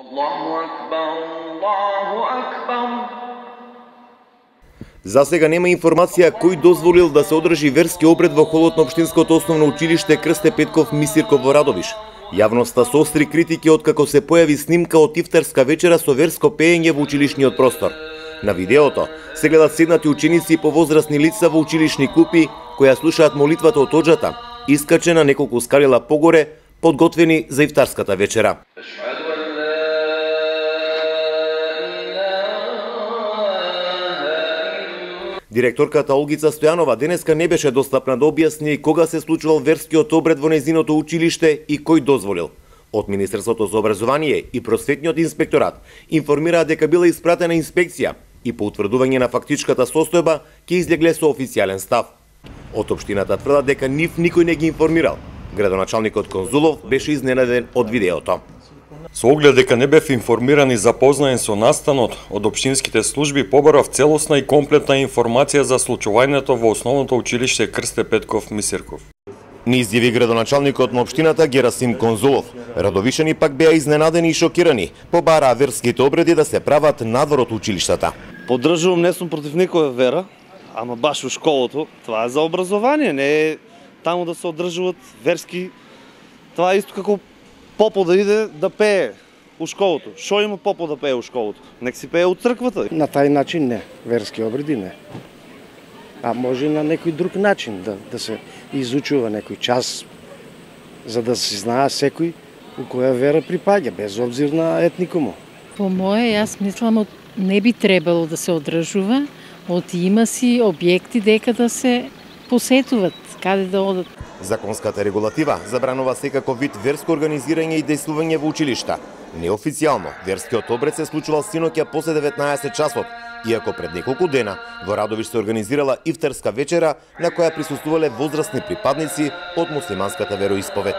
Аллаху акбар, Аллаху акбар. За сега нема информација кој дозволил да се одржи верски обред во холот на Општинското основно училиште Крсте Петков Мисирков во Радовиш. Јавноста соостри критики откако се појави снимка од ифтарска вечера со верско пеење во училишниот простор. На видеото се гледат седнати ученици и повозрасни лица во училишни купи која слушаат молитвата од оџата, искачена неколку скалила погоре, подготвени за ифтарската вечера. Директорката Олгица Стојанова денеска не беше достапна да објасни кога се случувал верскиот обред во незиното училиште и кој дозволил. Од Министерството за образование и Просветниот инспекторат информираа дека била испратена инспекција и по утврдување на фактичката состојба ќе излегле со официјален став. Од општината тврдат дека нив никој не ги информирал. Градоначалникот Конзулов беше изненаден од видеото. Со оглед дека не бев информиран и запознаен со настанот од општинските служби, побарав целосна и комплетна информација за случувањето во основното училиште Крсте Петков Мисирков. Ни изјави градоначалникот на општината Герасим Конзулов. Радовишани пак беа изненадени и шокирани, побараа верските обреди да се прават надвор од училиштата. Поддржувам, не сум против никоја вера, ама баш во школото, това е за образование, не е таму да се одржуваат верски. Това е исто како попо да иде да пее у школото. Шо има попо да пее у школото? Нек си пее у црквата. На тај начин не, верски обреди не. А може на некој друг начин да се изучува некој час, за да се знае секој у која вера припаѓа, без обзир на етникуму. По моје, јас мислам, не би требало да се одржува, има си објекти дека да се посетуват, каде да одат. Законската регулатива забранува секако вид верско организирање и дејствување во училишта. Неофицијално, верскиот обред се случувал синоќа после 19 часот, иако пред неколку дена во Радовиш се организирала ифтарска вечера на која присуствувале возрастни припадници од муслиманската вероисповед.